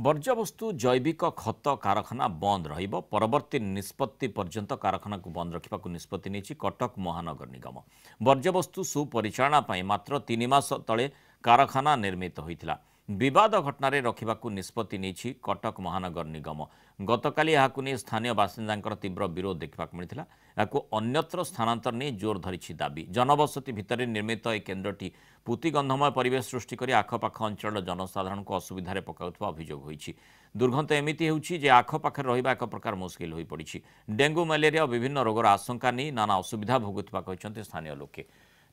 ବର୍ଜ୍ୟବସ୍ତୁ ଜୈବିକ ଖତ କାରଖାନା ବନ୍ଦ ରହିବ। ପରବର୍ତ୍ତୀ ନିଷ୍ପତ୍ତି ପର୍ଯ୍ୟନ୍ତ କାରଖାନାକୁ ବନ୍ଦ ରଖିବାକୁ ନିଷ୍ପତ୍ତି ନେଇଛି କଟକ ମହାନଗର ନିଗମ। ବର୍ଜ୍ୟବସ୍ତୁ ସୁପରିଚାଳନା ପାଇଁ ମାତ୍ର 3 ମାସ ତଳେ କାରଖାନା ନିର୍ମିତ ହୋଇଥିଲା। ବିବାଦ ଘଟଣାରେ ରଖିବାକୁ ନିଷ୍ପତ୍ତି ନେଇଛି କଟକ ମହାନଗର ନିଗମ। ଗତକାଲି ଏହାକୁ ନେଇ ସ୍ଥାନୀୟ ବାସିନ୍ଦାଙ୍କର ତୀବ୍ର ବିରୋଧ ଦେଖିବାକୁ ମିଳିଥିଲା। ଏହାକୁ ଅନ୍ୟତ୍ର ସ୍ଥାନାନ୍ତର ନେଇ ଜୋର ଧରିଛି ଦାବି। ଜନବସତି ଭିତରେ ନିର୍ମିତ ଏହି କେନ୍ଦ୍ରଟି ପୁତିଗନ୍ଧମୟ ପରିବେଶ ସୃଷ୍ଟି କରି ଆଖପାଖ ଅଞ୍ଚଳର ଜନସାଧାରଣଙ୍କୁ ଅସୁବିଧାରେ ପକାଉଥିବା ଅଭିଯୋଗ ହୋଇଛି। ଦୁର୍ଗନ୍ଧ ଏମିତି ହେଉଛି ଯେ ଆଖପାଖରେ ରହିବା ଏକ ପ୍ରକାର ମୁସ୍କିଲ ହୋଇପଡ଼ିଛି। ଡେଙ୍ଗୁ, ମ୍ୟାଲେରିଆ ଓ ବିଭିନ୍ନ ରୋଗର ଆଶଙ୍କା ନେଇ ନାନା ଅସୁବିଧା ଭୋଗୁଥିବା କହିଛନ୍ତି ସ୍ଥାନୀୟ ଲୋକେ।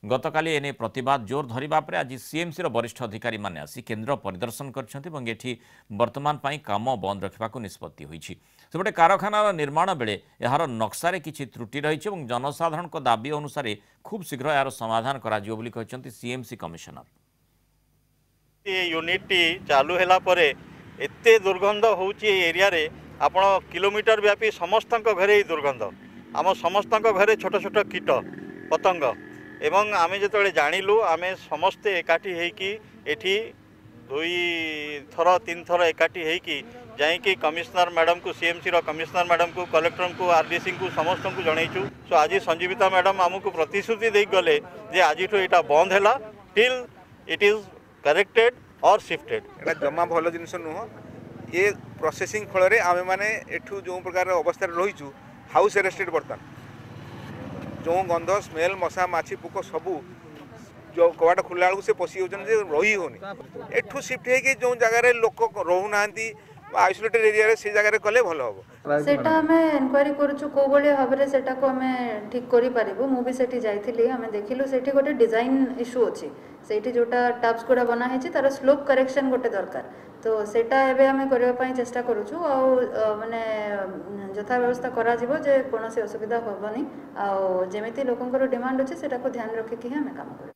ଗତକାଲି ଏନେଇ ପ୍ରତିବାଦ ଜୋର ଧରିବା ପରେ ଆଜି ସିଏମ୍ସିର ବରିଷ୍ଠ ଅଧିକାରୀମାନେ ଆସି କେନ୍ଦ୍ର ପରିଦର୍ଶନ କରିଛନ୍ତି ଏବଂ ଏଠି ବର୍ତ୍ତମାନ ପାଇଁ କାମ ବନ୍ଦ ରଖିବାକୁ ନିଷ୍ପତ୍ତି ହୋଇଛି। ସେପଟେ କାରଖାନାର ନିର୍ମାଣ ବେଳେ ଏହାର ନକ୍ସାରେ କିଛି ତ୍ରୁଟି ରହିଛି ଏବଂ ଜନସାଧାରଣଙ୍କ ଦାବି ଅନୁସାରେ ଖୁବ୍ ଶୀଘ୍ର ଏହାର ସମାଧାନ କରାଯିବ ବୋଲି କହିଛନ୍ତି ସିଏମ୍ସି କମିଶନର। ଏ ୟୁନିଟ୍ଟି ଚାଲୁ ହେଲା ପରେ ଏତେ ଦୁର୍ଗନ୍ଧ ହେଉଛି ଏ ଏରିଆରେ, ଆପଣ କିଲୋମିଟର ବ୍ୟାପୀ ସମସ୍ତଙ୍କ ଘରେ ଏଇ ଦୁର୍ଗନ୍ଧ। ଆମ ସମସ୍ତଙ୍କ ଘରେ ଛୋଟ ଛୋଟ କୀଟ ପତଙ୍ଗ। ଏବଂ ଆମେ ଯେତେବେଳେ ଜାଣିଲୁ, ଆମେ ସମସ୍ତେ ଏକାଠି ହେଇକି ଏଠି 2 ଥର 3 ଥର ଏକାଠି ହେଇକି ଯାଇକି କମିଶନର ମ୍ୟାଡ଼ାମକୁ, ସିଏମ୍ସିର କମିଶନର ମ୍ୟାଡ଼ାମକୁ, କଲେକ୍ଟରଙ୍କୁ, ଆର୍ଡିସିଙ୍କୁ ସମସ୍ତଙ୍କୁ ଜଣେଇଛୁ। ସୋ ଆଜି ସଞ୍ଜୀବିତା ମ୍ୟାଡ଼ାମ ଆମକୁ ପ୍ରତିଶ୍ରୁତି ଦେଇ ଗଲେ ଯେ ଆଜିଠୁ ଏଇଟା ବନ୍ଦ ହେଲା till it is corrected or shifted. ଏଇଟା ଜମା ଭଲ ଜିନିଷ ନୁହଁ। ଏ ପ୍ରୋସେସିଂ ଫଳରେ ଆମେମାନେ ଏଠୁ ଯେଉଁ ପ୍ରକାର ଅବସ୍ଥାରେ ରହିଛୁ, ହାଉସ୍ ଆରେଷ୍ଟେଡ୍। ବର୍ତ୍ତମାନ ଯେଉଁ ଗନ୍ଧ, ସ୍ମେଲ୍, ମଶା, ମାଛି, ପୋକ ସବୁ ଯେଉଁ କବାଟ ଖୋଲିଲା ବେଳକୁ ସେ ପଶି ଯାଉଛନ୍ତି ଯେ ରହି ହେଉନି। ଏଠୁ ସିଫ୍ଟ ହେଇକି ଯେଉଁ ଜାଗାରେ ଲୋକ ରହୁନାହାନ୍ତି ବା ଆଇସୋଲେଟେଡ୍ ଏରିଆରେ, ସେ ଜାଗାରେ କଲେ ଭଲ ହେବ। ସେଇଟା ଆମେ ଏନକ୍ୱାରି କରୁଛୁ, କେଉଁ ଭଳି ଭାବରେ ସେଟାକୁ ଆମେ ଠିକ୍ କରିପାରିବୁ। ମୁଁ ବି ସେଠି ଯାଇଥିଲି, ଆମେ ଦେଖିଲୁ ସେଠି ଗୋଟେ ଡିଜାଇନ୍ ଇସ୍ୟୁ ଅଛି। ସେଇଠି ଯେଉଁଟା ଟବ୍ସ ଗୁଡ଼ା ବନା ହେଇଛି, ତାର ସ୍ଲୋପ୍ କରେକ୍ସନ୍ ଗୋଟେ ଦରକାର। ତ ସେଇଟା ଏବେ ଆମେ କରିବା ପାଇଁ ଚେଷ୍ଟା କରୁଛୁ ଆଉ ମାନେ ଯଥା ବ୍ୟବସ୍ଥା କରାଯିବ ଯେ କୌଣସି ଅସୁବିଧା ହେବନି, ଆଉ ଯେମିତି ଲୋକଙ୍କର ଡିମାଣ୍ଡ ଅଛି ସେଟାକୁ ଧ୍ୟାନ ରଖିକି ହିଁ ଆମେ କାମ କରିବୁ।